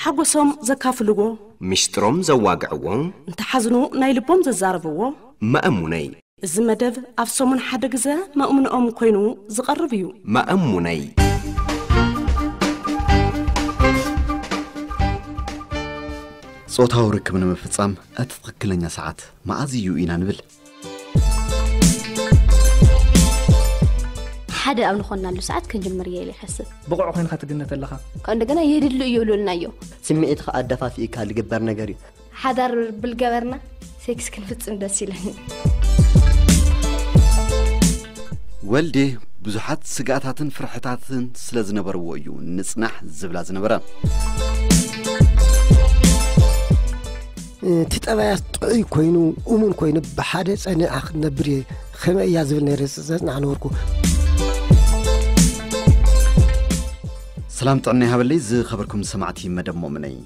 ሓጎሶም ዘካፍልዎ፣ ሚስጥሮም ዘዋግዕዎ፣ እንተሓዝኑ ናይ ልቦም ዘዛረብዎ። መእሙነይ። እዚ መደብ ኣብ ሰሙን ሓደ ግዘ መእሙንኦም ኮይኑ ዝቐርብ እዩ። መእሙነይ። ጾታዊ ርክብ ንምፍጻም እቲ ትኽክለኛ ሰዓት መዓዝ እዩ ኢና ንብል። ሓደ ኣብ ንኾንናሉ ሰዓት ክንጅምር እየ ኢለ ይሓስብ። ብቑዕ ኮይንካ ትግነት ኣለኻ። ካብ እንደገና የድሉ እዩ ይብሉልናዮ። ስምዒትኻ ኣደፋፊእካ ዝግበር ነገር እዩ። ሓዳር ብልገበርና ሴክስ ክንፍጽም ደስ ኢለኒ። ወልዴ ብዙሓት ስጋኣታትን ፍርሕታትን ስለ ዝነበርዎ እዩ ንጽናሕ ዝብላ ዝነበረ። እቲ ጠባያት ጥዑይ ኮይኑ እሙን ኮይኑ ብሓደ ጸኒዓ ክትነብር እየ ከመይ እያ ዝብል ነይረ ዘጽናዕ ነበርኩ። ሰላም ጥዕና ይሃበለይ ዝኸበርኩም ሰማዕቲ መደብ ሞምነይ።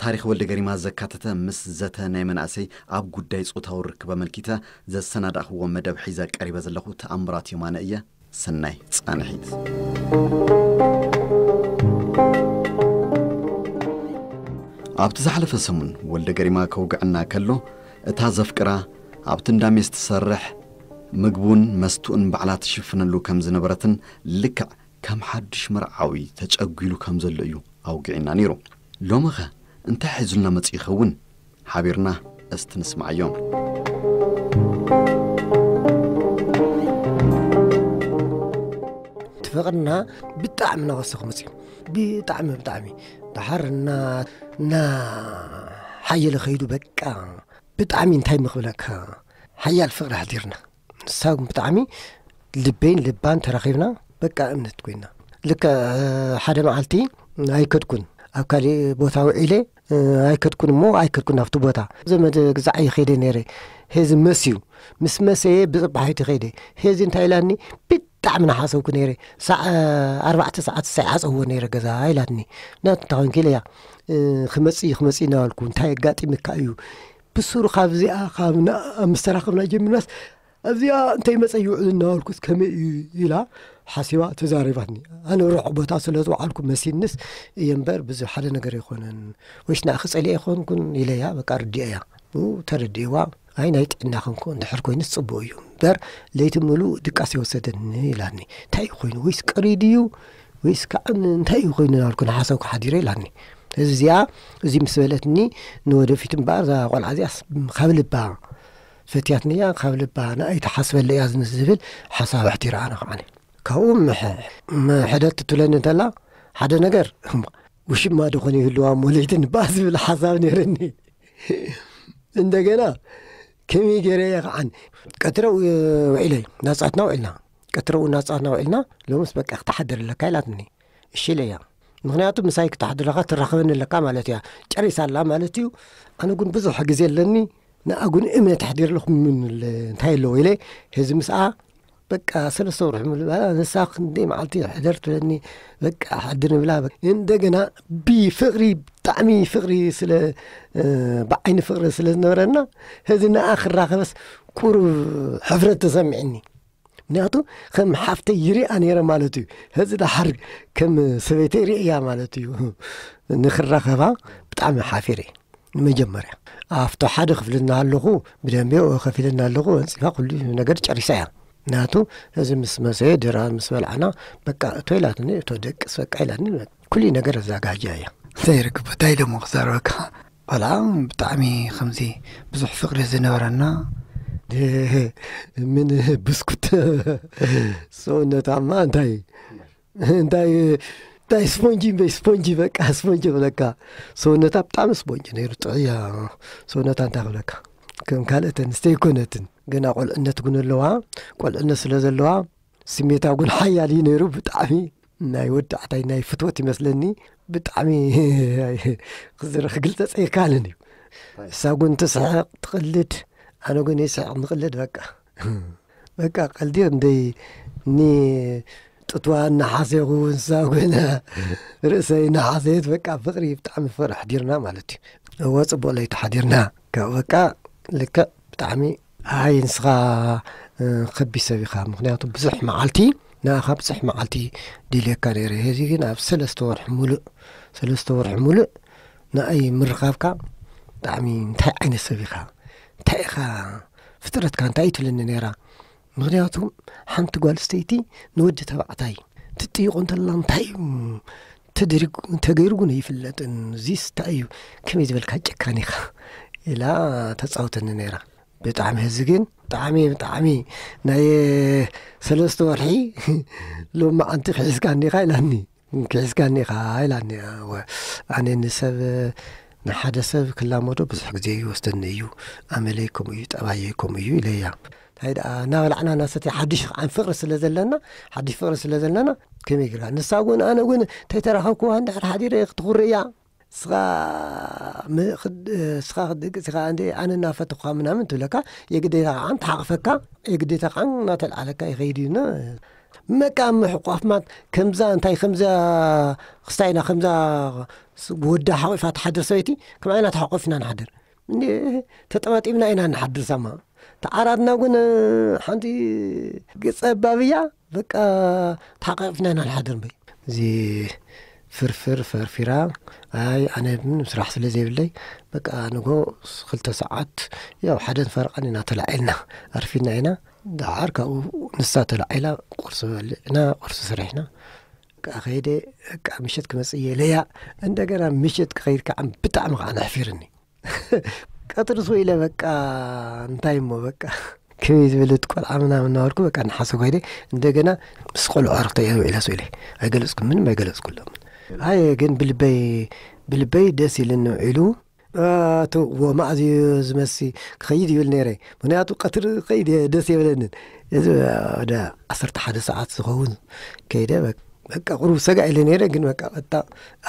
ታሪኽ ወልደ ገሪማ ዘካተተ ምስ ዘተ ናይ መናእሰይ ኣብ ጉዳይ ጾታዊ ርክብ ኣመልኪተ ዘሰናዳእኽዎ መደብ ሒዘ ቀሪበ ዘለኹ ተኣምራት የማነ እየ። ሰናይ ጻንሒት። ኣብቲ ዝሓለፈ ሰሙን ወልደ ገሪማ ከውግዐና ከሎ እታ ዘፍቅራ ኣብቲ እንዳ ሜስ ትሰርሕ ምግቡን መስትኡን ባዕላ ትሽፍነሉ ከም ዝነበረትን ልክዕ ከም ሓድሽ መርዓዊ ተጨጒሉ ከም ዘሎ እዩ ኣውጊዕና ነይሩ። ሎምኸ እንታይ ሒዙልና መጺኡ ይኸውን? ሓቢርና እስቲ ንስማዓዮ። እቲ ፍቕርና ብጣዕሚ እናወሰኹ መጺኡ። ብጣዕሚ፣ ብጣዕሚ። ደሓር እና፣ እና ሓየለ ኸይዱ በቃ ብጣዕሚ እንታይ ምኽብለካ ሓያል ፍቕሪ ኣሕዲርና። ንሳ እውን ብጣዕሚ ልበይን ልባን ተራኺብና በቃ እምነት ኮይና። ልክዕ ሓደ መዓልቲ ኣይከድኩን፣ ኣብ ካሊእ ቦታ ውዒለ ኣይከድኩን እሞ ኣይከድኩን ናብቲ ቦታ። ዘመድ ግዛዕ እየ ኸይደ ነይረ። ሄዚ መስዩ ምስ መሰየ ብፅባሒቲ ኸይደ። ሄዚ እንታይ ኢላኒ? ብጣዕሚ ናሓሰብኩ ነይረ። ሳዕ ኣርባዕተ ሰዓት ሳይ ዓፀዎ ነይረ ገዛ ኢላትኒ። ናት እንታይ ኮንኪ ኢለያ። ክመፅእ እዩ ክመፅእ እናበልኩ እንታይ ኣጋጢምካ እዩ? ብሱሩ ካብዚኣ ካብ ምስ ተራኸብና ጀሚርናስ ኣብዚኣ እንታይ መፀ ይውዕል እናበልኩስ ከመይ እዩ ኢላ ሓሲባ ተዛሪባትኒ። ኣነ ርሑቕ ቦታ ስለ ዝወዓልኩ መሲንስ እየ እምበር ብዙ ሓደ ነገር ኣይኮነን። ወይስ ንኣኺ ፀሊአ ኣይኮንኩን ኢለያ በቃ ርዲአያ። ኡ ተረዲእዋ። ኣይ ናይ ጥዕና ክንኮ እንድሕር ኮይኑስ ፅቡቅ እዩ እምበር ለይቲ ምሉእ ድቃስ የወሰደኒ ኢላኒ። እንታይ እዩ ኮይኑ ወይስ ቀሪዱ እዩ ወይስ ከዓ እንታይ እዩ ኮይኑ እናበልኩ ንሓሰብኩ ሓዲረ ኢላኒ። እዚ እዚኣ እዚ ምስ በለትኒ ንወደፊት እምበኣር እዛ ቆልዓ እዚኣስ ካብ ልባ ፈትያትንያ ካብ ልባ ንኣይ ትሓስበለ እያ ዝብል ሓሳብ ኣሕዲረ ኣነ ከዓ ካብኡ ምሕ- ምሕደት ትብለኒ እንተላ ሓደ ነገር ውሽማ ደኾነ ይህልዋ እሞ ለይቲ ንበኣ ዝብል ሓሳብ ነይርኒ። እንደገና ከመይ ገይረ እየ ከዓን ቀትረ ውዒለ ናፃትና ውዒልና ቀትረ ናፃትና ውዒልና ሎምስ በቃ ክትሓድር ኣለካ ኢላትኒ። እሺ ኢለ እያ ምክንያቱ ምሳይ ክትሓድረካ ትራኸበኒ ኣለካ ማለት እያ። ጨሪሳ ኣላ ማለት እዩ። ኣነ ግን ብዙሕ ግዜ ኣለኒ ንኣ ግን እምነት ኣሕዲረ ኣለኹ ምን እንታይ ኣለዎ ኢለ ህዚ ምስኣ በቃ ሰለስተ ወርሒ ሙሉእ በቃ ንሳ ክንደይ መዓልቲ ሕደር ትብለኒ በቃ ሕድር ንብላ በቃ። እንደገና ብፍቕሪ ብጣዕሚ ፍቕሪ ስለ እ፣ ብዓይኒ ፍቕሪ ስለ ዝነበረና ህዚ ንኣ ክራኸበስ ቁሩብ ሕፍረት ተሰሚዕኒ። ምክንያቱ ከም ሓፍተይ ይሪኣ ነይረ ማለት እዩ። ህዚ ደሓር ከም ሰበይተይ ርእያ ማለት እዩ። ንክራኸባ ብጣዕሚ ሓፊረ። ንመጀመርያ ኣብቲ ሓደ ክፍሊ እናሃለኹ ብደንቢ ከፊለ እናሃለኹ ኣንፂፋ ኩሉ ነገር ጨሪሳ እያ። ናቱ እዚ ምስ መሰየ ድራ ምስ በልዓና በቃ እቶ ኢላትኒ እቶ ደቅስ በቃ ኢላትኒ ኩሉ ነገር ኣዛጋጃ እያ። እንታይ ይርክብ እንታይ ደሞ ክዛረበካ ቆልዓ ብጣዕሚ ከምዚ ብዙሕ ፍቅሪ ዝነበረና ምን ብስኩት ሰውነታማ እንታይ እንታይ እንታይ ስፖንጂ እምበይ ስፖንጂ በቃ ስፖንጂ ክብለካ ሰውነታ ብጣዕሚ ስፖንጂ ነይሩ ጥዕያ ሰውነታ እንታይ ክብለካ ከም ካልኦት ኣንስተ ኣይኮነትን ገና ቆልዕነት እውን ኣለዋ ቆልዕነት ስለ ዘለዋ ስሜታ እውን ሓያል እዩ ነይሩ ብጣዕሚ ናይ ወዳዕታይ ናይ ፍትወት ይመስለኒ ብጣዕሚ ክዝረ ክግልፀፅ ኣይከኣልን እዩ እሳ እውን ትስሕቕ ትቕልድ ኣነ እውን ይስሕቕ ንቕልድ በቃ በቃ ቀልዲ ክንደይ እኒ ጥትዋ እናሓሰኹ ንሳ ኮይና ርእሰይ እናሓሰየት በቃ ፍቕሪ ብጣዕሚ ፍቕሪ ሓዲርና ማለት እዩ። እወ ፅቡቕ ለይቲ ሓዲርና ካብ በቃ ልክዕ ብጣዕሚ ኣይ ንስኻ ከቢድ ሰብ ኢኻ ምክንያቱ ብዙሕ መዓልቲ ንኣኻ ብዙሕ መዓልቲ ደልየካ ነይረ ሕዚ ግን ኣብ ሰለስተ ወርሒ ሙሉእ ሰለስተ ወርሒ ሙሉእ ንኣይ ምርኻብካ ብጣዕሚ እንታይ ዓይነት ሰብ ኢኻ እንታይ ኢኻ ፍጥረትካ እንታይ እዩ ትብለኒ ነይራ። ምኽንያቱ ሓንቲ ጓል ስተይቲ ንወዲ ተባዕታይ ትጥይቆ እንተላ እንታይ እዩ ተደሪጉ ተገይሩ እውን ይፍለጥን እዚስ እንታይ እዩ ከመይ ዝበልካ ጨካን ኢኻ ኢላ ተፃውተኒ ነይራ። ብጣዕሚ ሕዚ ግን ብጣዕሚ ብጣዕሚ ናይ ሰለስተ ወርሒ ሎማዓንቲ ክሒዝካ እኒኻ ኢላኒ። ክሒዝካ እኒኻ ኢላኒ። ኣነ ንሰብ ንሓደ ሰብ ክላመዶ ብዙሕ ግዜ ይወስደኒ እዩ። ኣመለይ ከምኡ እዩ፣ ጠባየይ ከምኡ እዩ ኢለያ። እንታይ ደኣ እናበላዕና እናሰተይ ሓድሽ ከዓ ፍቕሪ ስለ ዘለና ሓድሽ ፍቕሪ ስለ ዘለና ከመይ ጌርካ ንሳ እውን ኣነ እውን ተይተራኸብክዋ እንድሕር ሓዲረ ክትኹሪ እያ። ስኻ ስኻ ክትድቅስ ኢኻ እንደ ኣነ እናፈተኹኻ ምናምን ትብለካ። የግዴታ ከዓ ትሓቕፈካ። የግዴታ ከዓ እናተልዓለካ ይኸይድ እዩ። መቃ ምሕቋፍ ማለት ከምዛ እንታይ ከምዛ ክስታይና ከምዛ ወዳ ሓቑፋ ትሓድር ሰበይቲ ከምዓይና ተሓቆፍና ንሓድር። እንዴ ተጠማጢምና ኢና ንሓድር ሳማ። ተዓራትና እውን ሓንቲ ገጸ ባብያ በቃ ተሓቃቂፍና ኢና ንሓድር እምበይ። እዚ ፍርፍር ፈርፊራ ኣይ ኣነ ስራሕ ስለ ዘይብለይ በቃ ንጎ ክልተ ሰዓት ያው ሓደን ፈረቓን ኢና ተላዒልና ኣርፊና ኢና። ደሓር ካብኡ ንሳ ተላዒላ ቁርሲ በሊዕና ቁርሲ ሰሪሕና በቃ ከይደ በቃ ምሸት ክመጽእ እየ ኢለያ። እንደገና ምሸት ክኸይድ ከዓ ብጣዕሚ ከዓ ነሕፊርኒ። ቀትሪ ስው ኢለ በቃ እንታይ እሞ በቃ ከመይ ዝበለት ቆልዓ ምናምን እናበልኩ በቃ እናሓሰብኩ ከይደ። እንደገና ምስ ቆልዑ ኣርክተ እየ ውዒለ ስው ኢለ ኣይገለፅኩ ምንም ኣይገለፅኩሎም። ኣየ ግን ብልበይ ብልበይ ደስ ኢልን ውዒሉ። ኣቶ ወማእዝዩ ዝመሲ ክኸይድ ይብል ነይረ። ምክንያቱ ቀትሪ ከይድ ደስ የብለንን። እዚ ወደ ዓሰርተ ሓደ ሰዓት ዝኸውን ከይደ በቃ ቁሩብ ሰጋ ኢለ ነይረ። ግን በቃ በጣ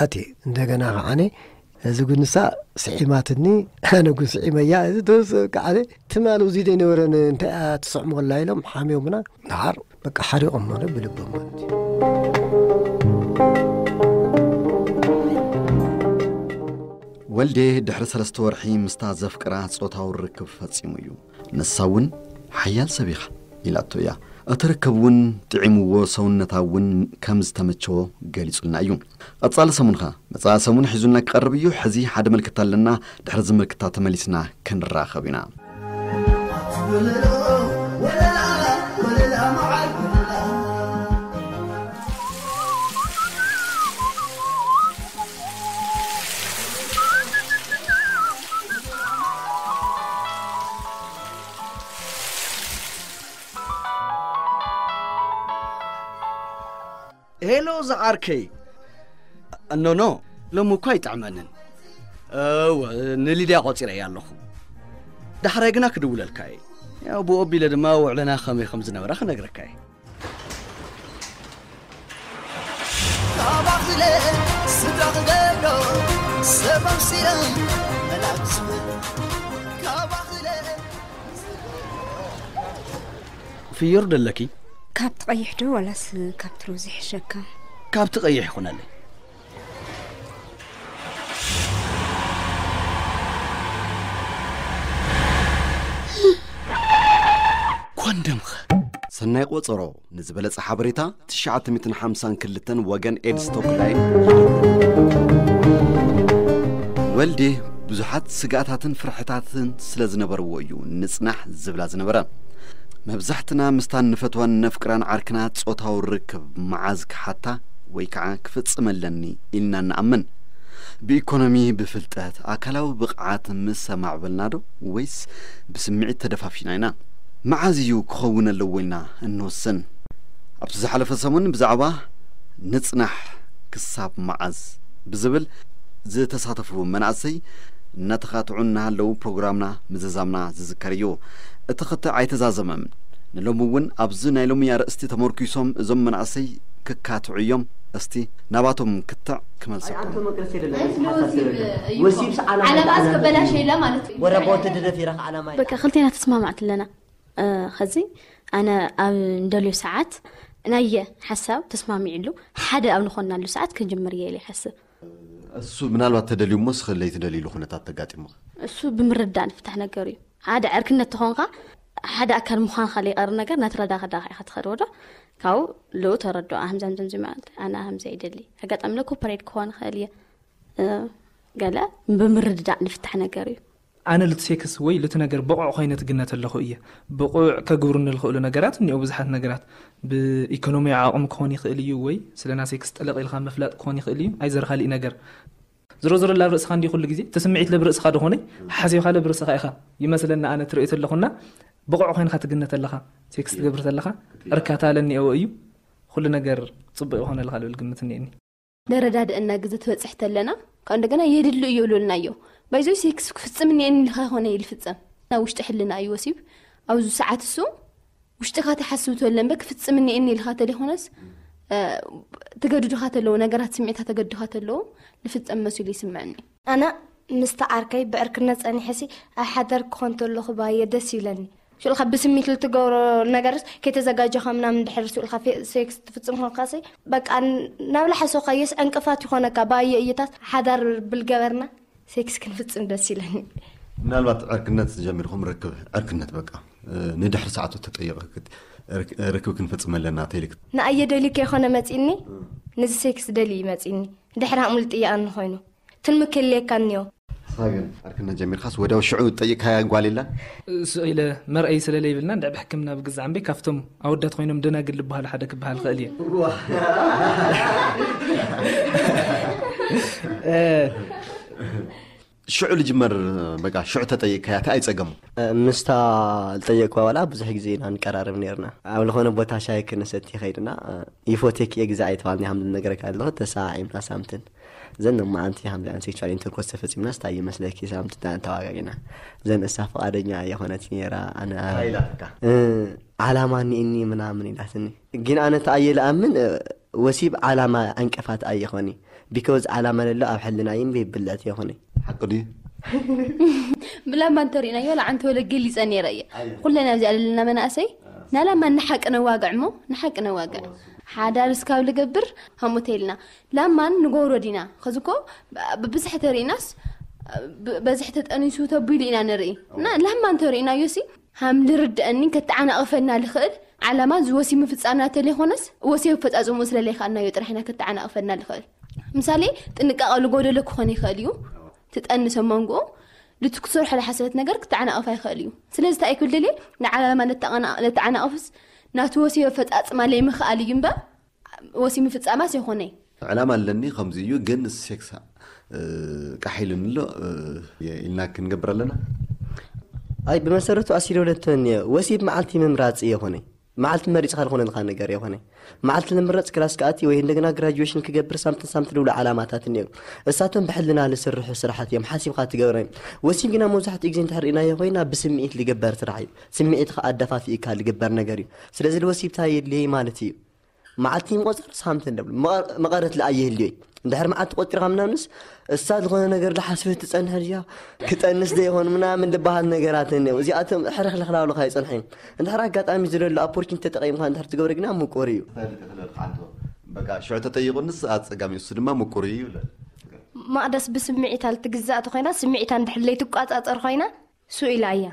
ኣቲ እንደገና ከዓነ እዚ ጉንሳ ስዒማትኒ። ኣነ ጉን ስዒመያ እዚ ተወሰ ከዓነ ትማል ውዚደ ነበረን እንታይ ትስዕሞ ከላ ኢሎም ሓሚዮምና። ደሓር በቃ ሓሪቖም ማለት ብልቦም ማለት እዩ። ወልዴ ድሕሪ ሰለስተ ወርሒ ምስታ ዘፍቅራ ጾታዊ ርክብ ፈጺሙ እዩ። ንሳ እውን ሓያል ሰብ ኢኻ ኢላቶ እያ። እቲ ርክብ እውን ጥዒምዎ ሰውነታ እውን ከም ዝተመቸዎ ገሊጹልና እዩ። ቀጻሊ ሰሙንኻ መጻኢ ሰሙን ሒዙልና ክቐርብ እዩ። ሕዚ ሓደ ምልክታ ኣለና። ድሕሪ እዚ ምልክታ ተመሊስና ክንራኸብ ኢና። ሄሎ ዝዓርከይ። ኖኖ፣ ሎሚ እኳ ኣይጥዕመንን። እወ፣ ንሊድያ ቆጺረያ ኣለኹ። ዳሕራይ ግና ክድውለልካ እየ። ያው ብኡ ኣቢለ ድማ ውዕለና ከመይ ከም ዝነበረ ክነግረካ እየ። ካባኽለ ስድራ ክደሎ ሰብ ኣምሲለ መላክ ዝብል ካባኽለ ፍዮር ደለኪ? ካብቲ ቀይሕ ዶ ዋላስ ካብቲ ሮዝ ይሕሸካ? ካብቲ ቀይሕ ይኹነለይ። ኮንደምኸ? ሰናይ ቆጸሮ ንዝበለጸ ሓበሬታ ትሽዓተ ሚእትን ሓምሳን ክልተን ወገን ኤድስ ቶክላይን። ወልዴ ብዙሓት ስግኣታትን ፍርሕታትን ስለ ዝነበርዎ እዩ ንጽናሕ ዝብላ ዝነበረ። መብዛሕትና ምስታ ንፈትዋን ነፍቅራን ዓርክና ጾታዊ ርክብ መዓዝ ክሓታ ወይ ከዓ ክፍጽም ኣለኒ ኢልና ንኣምን። ብኢኮኖሚ፣ ብፍልጠት፣ ኣካላዊ ብቕዓት ምስ ኣማዕበልና ዶ ወይስ ብስምዒት ተደፋፊና ኢና? መዓዝ እዩ ክኸውን ኣለዎ ኢልና እንወስን? ኣብቲ ዝሓለፈ ሰሙን ብዛዕባ ንጽናሕ ክሳብ መዓዝ ብዝብል ዝተሳተፉ መናእሰይ እናተኻትዑ እናሃለዉ ፕሮግራምና ምዝዛምና ዝዝከር እዩ። እቲ ክትዕ ኣይተዛዘመን። ንሎሚ እውን ኣብዚ ናይ ሎሚ ኣርእስቲ ተመርኲሶም እዞም መናእሰይ ክካትዑ እዮም። እስቲ ናባቶም ክትዕ ክመልሰኩም። በቃ ክልቴና ተስማማዕት ኣለና። ኸዚ ኣነ ኣብ እንደልዮ ሰዓት ናየ ሓሳብ ተስማሚዕሉ ሓደ ኣብ ንኾናሉ ሰዓት ክንጅምር እየ ኢለ ይሓስብ። እሱ ምናልባት ተደልዩ እሞ ስኸ ለይትደልይሉ ኩነታት ተጋጢሙኸ? እሱ ብምርዳእ ንፍታሕ ነገር እዩ። ሓደ ዕርክነት ተኾንካ ሓደ ኣካል ምዃንካ ለይቐርብ ነገር ናትረዳኸዳኻ ኢኻ ትኸድዎ ዶ? ካብኡ ልኡ ተረድኦ ኣህምዛምዘምዚ ማለት ኣነ ኣህምዛ ይደሊ ኣጋጣሚ ለ ኮፐሬት ክኾን ይኽእል እየ። ገለ ብምርድዳእ ልፍታሕ ነገር እዩ። ኣነ ልቲ ሴክስ ወይ ልቲ ነገር ብቑዕ ኮይነ ትግነት ኣለኹ እየ። ብቑዕ ከግብሩኒ ልኽእሉ ነገራት እኒኦ፣ ብዙሓት ነገራት። ብኢኮኖሚያዊ ዓቕሚ ክኾን ይኽእል እዩ፣ ወይ ስለና ሴክስ ጠለቕ ኢልካ ምፍላጥ ክኾን ይኽእል እዩ። ኣይዘር ካሊእ ነገር ዝሮ ዝሮ ላብ ርእስኻ እንዲ ኩሉ ግዜ እቲ ስምዒት ለብ ርእስኻ ደኾነ ሓሲብካ ለብ ርእስኻ ኢኻ ይመስለና። ኣነ ትርእዮ ተለኹና ብቑዕ ኮይንካ ትግነት ኣለኻ፣ ሴክስ ትገብር ተለኻ እርካታ ለኒኤዎ እዩ። ኩሉ ነገር ጽቡቕ ይኾነልካ ልብል ግምት እኒኤኒ። ደረዳድእና ግዜ ትበጽሕ ተለና፣ ካብ እንደገና የድሉ እዩ ይብሉልና እዮ። ባይዞ ሴክስ ክፍጽም እኒኤኒ ኢልካ ይኾነ ይልፍጸም። ናብ ውሽጢ ሕልና እዩ ወሲብ። ኣብዚ ሰዓት እሱ ውሽጥኻ ትሓስብ ተለ እምበር ክፍጽም እኒኤኒ ኢልካ ተለይኮነስ፣ እ፣ ትገድዱኻ ተለዉ፣ ነገራት ስምዒታት ተገድዱኻ ተለዉ፣ ልፍጸም መሲሉ ይስምዐኒ። ኣነ ምስቲ ዓርከይ ብዕርክነት ጸኒሐሲ ኣብ ሓዳር ክኾን ተለኹ ባየ ደስ ይብለኒ። ሽዑ ካብ ብስሚት ልትገብሮ ነገርስ ከይተዘጋጀኻ ምናምን ድሕር ስኡልካ ፌ-፣ ሴክስ ትፍጽም ኮንካሲ፣ በቃ ን-፣ ናብ ላሓሶኻየስ ዕንቅፋት ይኾነካ። ባየ እይታት ሓዳር ብልገበርና ሴክስ ክንፍጽም ደስ ይለኒ። ምናልባት ዕርክነት ጀሚርኩም ርክብ፣ ዕርክነት በቃ፣ እ፣ ንድሕሪ ሰዓቱ ተጠይቐ ክት-፣ ርክ-፣ ርክብ ክንፍጽም ኣለና ተይልክ። ንኣየ ደልዩ ከይኮነ መጺኒ፣ ንዚ ሴክስ ደልዩ እዩ መጺኒ። ድሕሪ ሃምሉ ጥያቐኒ ኮይኑ። ትልሚ ክህልየካ እኒኦ። ንስኻ ግን ዕርክነት ጀሚርካስ ወዲያው ሽዑ ጠይቕካያ ጓል የላን? ስቕ ኢለ መርኣይ ስለ ለይብልና እንድዕ ብሕክምና ብግዛዕ እምበይ ካብቶም ኣወዳት ኮይኖም ደናግል ልበሃሉ ሓደ ክበሃል ክእል እየ። እ፣ ሽዑ ልጅመር በቃ ሽዑ ተጠይቅካያ እቲ ኣይጸገሙ። እ፣ ምስታ ዝጠየቅኩዋ ዋላ ብዙሕ ግዜ ኢና ንቀራረብ ነርና። ኣብ ዝኾነ ቦታ ሻሂ ክንሰቲ ከይድና፣ እ፣ ይፎቴክ እየ ግዛዕ ኣይተባልኒ ሃምብል ነገረካ ኣለኹ፣ ተሰዓዒምና ሳምትን። ዘን መዓንቲ ሃምብል ሴክሹዋል ኢንተርኮርስ ተፈጺምና ስታይ ይመስለኪ ሳምትን ተዋጋጊና። ዘን እሳ ፍቓደኛ የኾነት ነራ፣ ኣነ እ፣ ዓላማ እኒእኒ ምናምን ኢላትኒ። ግን ኣነ ተኣየ ልኣምን፣ እ፣ ወሲብ ዓላማ ዕንቅፋት ኣይኾኒ። ቢኮዝ ዓላማ ለሎ ኣብ ሕልና ይን ብብልዕት የኾኒ። ሓቂ ድዩ? ብላማ እንተሪእናዮ፣ ለዓንቲ ወለ ገሊጸ ነይረ እየ። ኣየ። ኩለን ኣብዚ ኣለና መናእሰይ፣ ናላማ ንሓቂ ነዋግዕ እሞ፣ ንሓቂ ነዋግዕ። ሓዳር እስካብ ልገብር፣ ሃሙተ ኢልና። ላማን ንጎሮ ዲና። ኸዚ እኮ፣ ብ-፣ ብብዝሒ ተሪእናስ፣ ብ-፣ በዝሒ ተጠኒሱ ተቢሉ ኢና ንርኢ። እና ላማ እንተሪእናዮ ሲ፣ ሃም ልርድአኒ ከተዓናቕፈና ልኽእል ዓላማ እዚ ወሲብ ምፍጻምና ተለይኮነስ፣ ወሲብ ኣፈጻጽምኡ ስለ ለይከኣልናዮ ጥራሕ ኢና ከተዓናቕፈና ልኽእል። ምሳሌ፣ ጥንቃቐ ልጎደሎ ክኾን ይኽእል እዩ። ትጠንሰ መንጎ፣ ልቲ ክትሰርሖ ለሓሰበት ነገር ክተዓናቕፋ ይኽእል እዩ። ስለዚ እንታይ ክብል ደልየ፣ ንዓላማ ለተዓና-፣ ለተዓናቕፍስ ናቲ ወሲብ ኣፈጻጽማ ለይምኽኣል እዩ እምበር፣ ወሲብ ምፍጻማስ የኾነይ። ዕላማ ኣለኒ፣ ከምዚ እዩ፣ ግን ሴክስ፣ እ፣ ቃሕ ኢሉኒ ኣሎ፣ እ፣ ኢልና ክንገብር ኣለና። ኣይ፣ ብመሰረቱ ኣሲዶ ለተን እየ። ወሲብ መዓልቲ ምምራጽ እየ ኾነይ። መዓልቲ መሪጽካ ዝኾነ ዝኾነ ነገር እየ ኾነይ። መዓልቲ ንምረጽ ክላስ ክኣቲ ወይ እንደገና ግራጁዌሽን ክገብር ሳምትን ሳምትን ዝብሉ ዓላማታት እኒኦ። እሳቶም ብሕልና ልስርሑ ስራሓት እዮም፣ ሓሲብካ ትገብሮም። ወሲብ ግና መብዛሕትኡ ግዜ እንድሕር ርኢናዮ ኮይና ብስምዒት ልግበር ስራሕ እዩ። ስምዒትካ ኣደፋፊእካ ልግበር ነገር እዩ። ስለዚ ልወሲብ እንታይ የድልየይ ማለት እዩ? መዓልቲ ምቆጸር ሳምንት እንደብሉ መቐ-፣ መቐረት ለኣየህልዮ እዩ። እንድሕር መዓልቲ ቆጺርካ ምናምንስ እሳ ዝኾነ ነገር ዝሓስበት ትጸንሕ ድያ? ክጠንስ ዶ ይኾን ምናምን ዝበሃል ነገራት እኒኦ። እዚኣቶም ሕርኽርኽ ላብሉኻ ይጸንሑ እዮም። እንድሕር ኣጋጣሚ ዝደሎ ኣፖርቹኒቲ ተጠቒምካ እንድሕር ትገብሮ ግና ምቁር እዩ። በቃ ሽዑ ተጠይቑንስ ኣጸጋሚ እሱ ድማ ምቁር እዩ ይብለ። መቕደስ ብስምዒታ ልትግዛእ ተኾይና፣ ስምዒታ እንድሕር ለይትቋጻጸር ኮይና፣ ስኡ ኢላ እያ።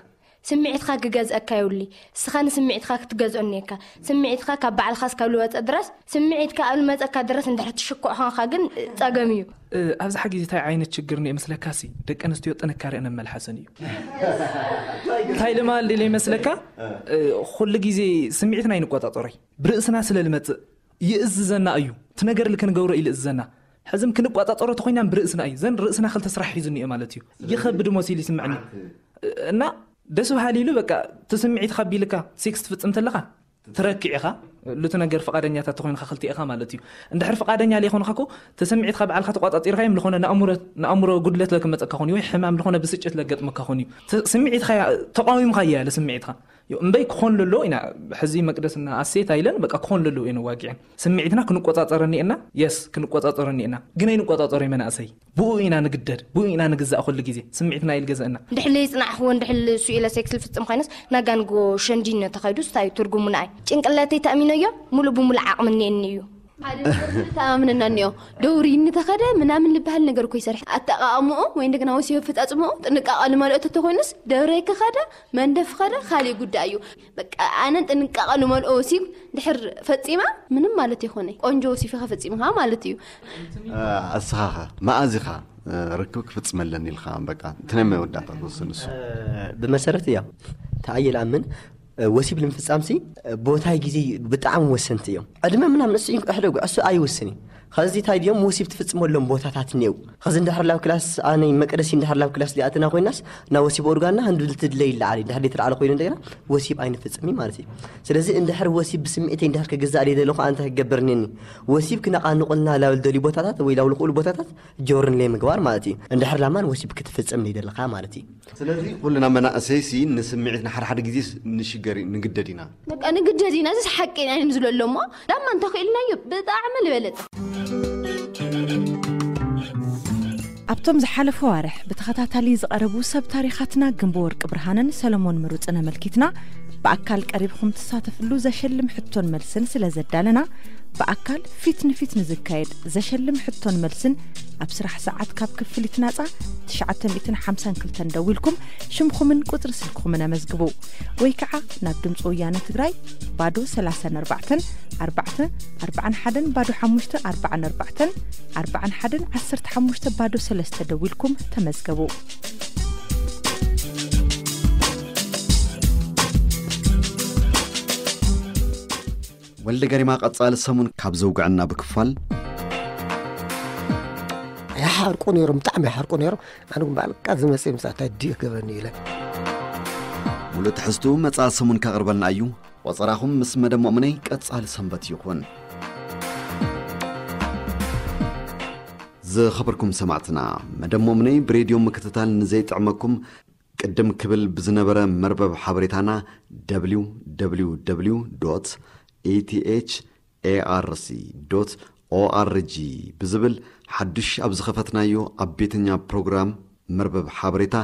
ስምዒትካ ክገዝአካ የብሉይ። እስኻ ንስምዒትካ ክትገዝኦ እኒኤካ። ስምዒትካ ካብ ባዕልኻ እስካብ ልወፀ ድረስ፣ ስምዒትካ ኣብ ልመፀካ ድረስ እንድሕር ትሽኩዕ ኾንካ ግን ፀገም እዩ። እ፣ ኣብዝሓ ግዜ እንታይ ዓይነት ችግር እኒኦ ይመስለካሲ? ደቂ ኣንስትዮ ጥንካሬአን ኣብ መልሓሰን እዩ። እንታይ ልማል ኢለ ይመስለካ? እ፣ ኩሉ ግዜ ስምዒትና ኣይንቆጻጸሮይ። ብርእስና ስለ ልመጽእ ይእዝዘና እዩ። እቲ ነገር ልክንገብሮ እዩ ልእዝዘና። ሕዝም ክንቋጻጸሮ ተኾይና ብርእስና እዩ። ዘን ርእስና ክልተ ስራሕ ሒዙ እኒኦ ማለት እዩ። ይኸብድ መሲሉ ይስምዐኒ። እና ደስ በሃሊ ኢሉ በቃ እቲ ስምዒትካ ቢልካ ሴክስ ትፍጽም ተለኻ ትረክዕ ኢኻ። ሉቲ ነገር ፍቓደኛታት ተኾይንካ ክልቲኤኻ ማለት እዩ። እንድሕር ፍቓደኛ ለይኮንካ እኮ እቲ ስምዒትካ ባዕልካ ተቋጻጺርካ እዮም ልኾነ ንኣእምሮ፣ ንኣእምሮ ጉድለት ለክመጸካ ኾን እዩ ወይ ሕማም ልኾነ ብስጭት ለገጥመካ ኾን እዩ። ት-፣ ስምዒትካ እያ፣ ተቃዊምካ እያ ያለ ስምዒትካ። ዮ፣ እምበይ ክኾን ለሎ ኢና፣ ሕዚ መቅደስና ኣሴት ኣይለን፣ በቃ ክኾን ለሎ ኢና ዋጊዕን። ስምዒትና ክንቆጻጸረኒ እና፣ የስ፣ ክንቆጻጸረኒ እና። ግን ኣይንቆጻጸሮ መናእሰይ። ብኡ ኢና ንግደድ፣ ብኡ ኢና ንግዛእ ኩሉ ግዜ። ስምዒትና እዩ ልገዘእና። እንድሕር ለይጽናዕኽዎ፣ እንድሕር እሱ ኢለ ሴክስ ልፍጽም ኮይነስ፣ ናጋንጎ ሸንዲነ ተኸይዱ ስታይ ትርጉሙ ንኣይ። ጭንቅላተይ ተኣሚነዮ፣ ሙሉእ ብሙሉእ ዓቕሚ እኒኤኒ እዩ። ሓደ ነገር ተኣማምነና እኒኦ። ደውሪ እንተኸደ ምናምን ልበሃል ነገር እኮ ይሰርሕ። ኣጠቓቕምኡ ወይ እንደገና ወሲብ ኣፈጻጽምኡ ጥንቃቐ ልመልኦ ተተኾይኑስ፣ ደውሪ ከኸደ፣ መንደፍ ከደ፣ ካሊእ ጉዳይ እዩ። በቃ፣ ኣነ ጥንቃቐ ልመልኦ ወሲብ ድሕር ፈጺማ፣ ምንም ማለት ይኾነ። ቆንጆ ወሲብ ኢኻ ፈጺምኻ ማለት እዩ። እ፣ ኣስኻኸ፣ መኣዝ ኢኻ ርክብ ክፍጽመለን ኢልካ በቃ እቲ ናይ መወዳእታ ትወስን እሱ። ብመሰረት እያ ተኣየል ኣምን ወሲብ ንምፍጻምሲ ቦታይ ግዜ ብጣዕሚ ወሰንቲ እዮም። ዕድመ ምናምን እሱ ሕደጉ እሱ ኣይወስን እዩ። ከዚ እንታይ ድዮም ወሲብ ትፍጽመሎም ቦታታት እኒው። ከዚ እንድሕር ላብ ክላስ ኣነ መቀደሲ እንድሕር ላብ ክላስ ሊኣትና ኮይናስ እና ወሲብ ኦርጋና ህንዱ ልትድለይ ይለዓል እንድሕር ሊትለዓለ ኮይኑ እንደገና ወሲብ ኣይንፍጽም ማለት እዩ። ስለዚ እንድሕር ወሲብ ብስምዒተይ እንድሕር ክግዛእ ደለኹ ኣንተ ክገብርኒኒ ወሲብ ክነቃንቁልና ላብል ደልዩ ቦታታት ወይ ላብል ክእሉ ቦታታት ጆርን ለይ ምግባር ማለት እዩ። እንድሕር ላማን ወሲብ ክትፍጽም ደለኻ ማለት እዩ። ስለዚ ኩልና መናእሰይሲ ንስምዒት ንሓድሓደ ግዜ ንሽገር ንግደድ ኢና። በቃ ንግደድ ኢና። እዚ ሓቂ ኢና እዮም ዝብሎ ኣሎ እሞ ዳማ እንተኽኢልናዮ ብጣዕሚ ዝበለጸ። ኣብቶም ዝሓለፈ ዋርሕ ብተኸታታሊ ዝቐረቡ ሰብ ታሪኻትና ግንቡ ወርቂ ብርሃንን ሰለሞን ምሩፅን ኣመልኪትና ብኣካል ቀሪብኹም ትሳተፍሉ ዘሸልም ሕቶን መልስን ስለ ዘዳለና ብኣካል ፊት ንፊት ንዝካየድ ዘሸልም ሕቶን መልስን ኣብ ስራሕ ሰዓት ካብ ክፍሊት ናፃ ትሽዓተ ሚእትን ሓምሳን ክልተን ደዊልኩም ሽምኹምን ቁፅሪ ስልክኹምን ኣመዝግቡ ወይ ከዓ ናብ ድምፂ ወያነ ትግራይ ባዶ ሰላሳን ኣርባዕተን ኣርባዕተ ኣርባዓን ሓደን ባዶ ሓሙሽተ ኣርባዓን ኣርባዕተን ኣርባዓን ሓደን ዓሰርተ ሓሙሽተ ባዶ ሰለስተ ደዊልኩም ተመዝገቡ። ወልደ ገሪማ ቀጻሊ ሰሙን ካብ ዘውግዐና ብክፋል ይሓርቁ ነይሮም፣ ብጣዕሚ ይሓርቁ ነይሮም። ኣነ ግን በቃ ዝመጽእ ምሳታይ ድዩ ገበኒ ኢለ። ሙሉእ ትሕዝቱ መጻኢ ሰሙን ከቕርበልና እዩ። ቆጸራኹም ምስ መደብ ሞእምነይ ቀጻሊ ሰንበት ይኹን። ዝኸበርኩም ሰማዕትና፣ መደብ ሞእምነይ ብሬድዮ ምክትታል ንዘይጥዕመኩም ቅድም ክብል ብዝነበረ መርበብ ሓበሬታና www ኢቲኤች ኤኣርሲ ኦኣርጂ ብዝብል ሓዱሽ ኣብ ዝኸፈትናዮ ኣብ ቤተኛ ፕሮግራም መርበብ ሓበሬታ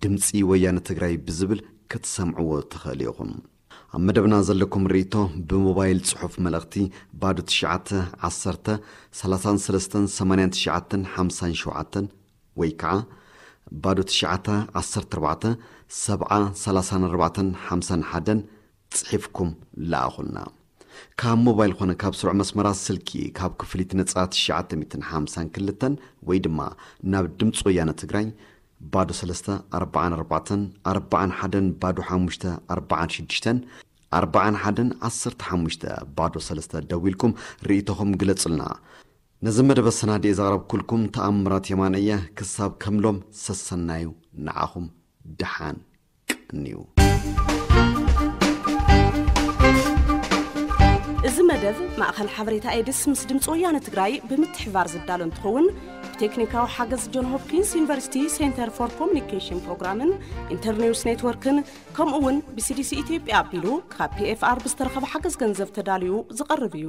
ድምፂ ወያነ ትግራይ ብዝብል ክትሰምዕዎ ትኽእል ኢኹም። ኣብ መደብና ዘለኩም ርእይቶ ብሞባይል ጽሑፍ መልእኽቲ ባዶ ትሽዓተ ዓሰርተ ሰላሳን ሰለስተን ሰማንያን ትሽዓተን ሓምሳን ሸውዓተን ወይ ከዓ ባዶ ትሽዓተ ዓሰርተ ኣርባዕተ ሰብዓ ሰላሳን ኣርባዕተን ሓምሳን ሓደን ጽሒፍኩም ለኣኹልና። ካብ ሞባይል ኾነ ካብ ስሩዕ መስመራት ስልኪ ካብ ክፍሊት ነጻ ትሽዓተ ሚእትን ሓምሳን ክልተን ወይ ድማ ናብ ድምፂ ወያነ ትግራይ ባዶ ሰለስተ ኣርባዓን ኣርባዕተን ኣርባዓን ሓደን ባዶ ሓሙሽተ ኣርባዓን ሽዱሽተን ኣርባዓን ሓደን ዓሰርተ ሓሙሽተ ባዶ ሰለስተ ደዊልኩም ርእይቶኹም ግለጹልና። ነዚ መደብ ኣሰናዲኤ ዘቕረብኩልኩም ተኣምራት የማነ እየ። ክሳብ ከምሎም ሰሰናዩ ንዓኹም ደሓን ቀንዩ። እዚ መደብ ማእኸል ሓበሬታ ኤድስ ምስ ድምፂ ወያነ ትግራይ ብምትሕባር ዝዳሎ እንትኸውን ብቴክኒካዊ ሓገዝ ጆን ሆፕኪንስ ዩኒቨርሲቲ ሴንተር ፎር ኮሚኒኬሽን ፕሮግራምን ኢንተርኒውስ ኔትወርክን ከምኡ እውን ብሲዲሲ ኢትዮጵያ ኣቢሉ ካብ ፒኤፍኣር ብዝተረኸበ ሓገዝ ገንዘብ ተዳልዩ ዝቐርብ እዩ።